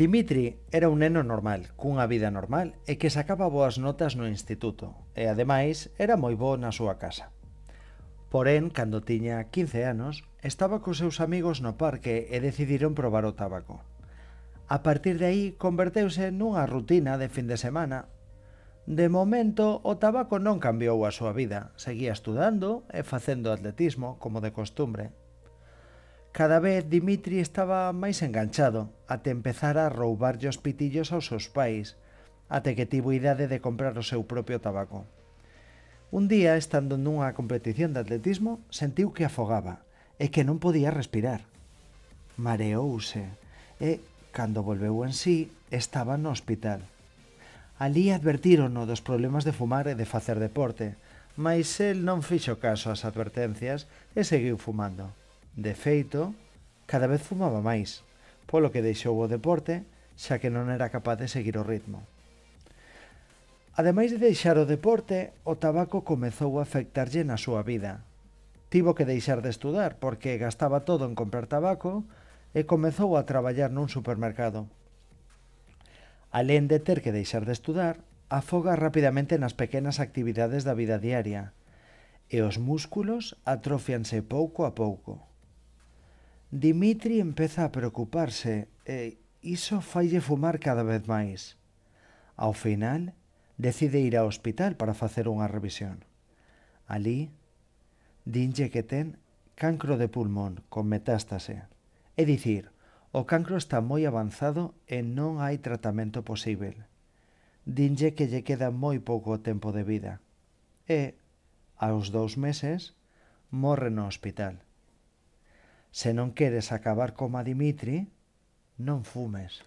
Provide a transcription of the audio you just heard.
Dimitri era un neno normal, cunha vida normal e que sacaba boas notas no instituto e, ademais, era moi bo na súa casa. Porén, cando tiña 15 anos, estaba cos seus amigos no parque e decidiron probar o tabaco. A partir de aí, converteuse nunha rutina de fin de semana. De momento, o tabaco non cambiou a súa vida, seguía estudando e facendo atletismo, como de costumbre. Cada vez Dimitri estaba máis enganchado, até empezar a roubarlle os pitillos aos seus pais, até que tivo idade de comprar o seu propio tabaco. Un día, estando nunha competición de atletismo, sentiu que afogaba e que non podía respirar. Mareouse e, cando volveu en sí, estaba no hospital. Alí advertírono dos problemas de fumar e de facer deporte, mais el non fixo caso ás advertencias e seguiu fumando. De feito, cada vez fumaba máis, polo que deixou o deporte, xa que non era capaz de seguir o ritmo. Ademais de deixar o deporte, o tabaco comezou a afectarlle na súa vida. Tivo que deixar de estudar porque gastaba todo en comprar tabaco e comezou a traballar nun supermercado. Alén de ter que deixar de estudar, afoga rapidamente nas pequenas actividades da vida diaria e os músculos atrofianse pouco a pouco. Dimitri empeza a preocuparse e iso faille fumar cada vez máis. Ao final, decide ir ao hospital para facer unha revisión. Alí, dinlle que ten cancro de pulmón con metástase. É dicir, o cancro está moi avanzado e non hai tratamento posível. Dinlle que lle queda moi pouco tempo de vida. E, aos 2 meses, morre no hospital. Se non queres acabar como a Dimitri, non fumes.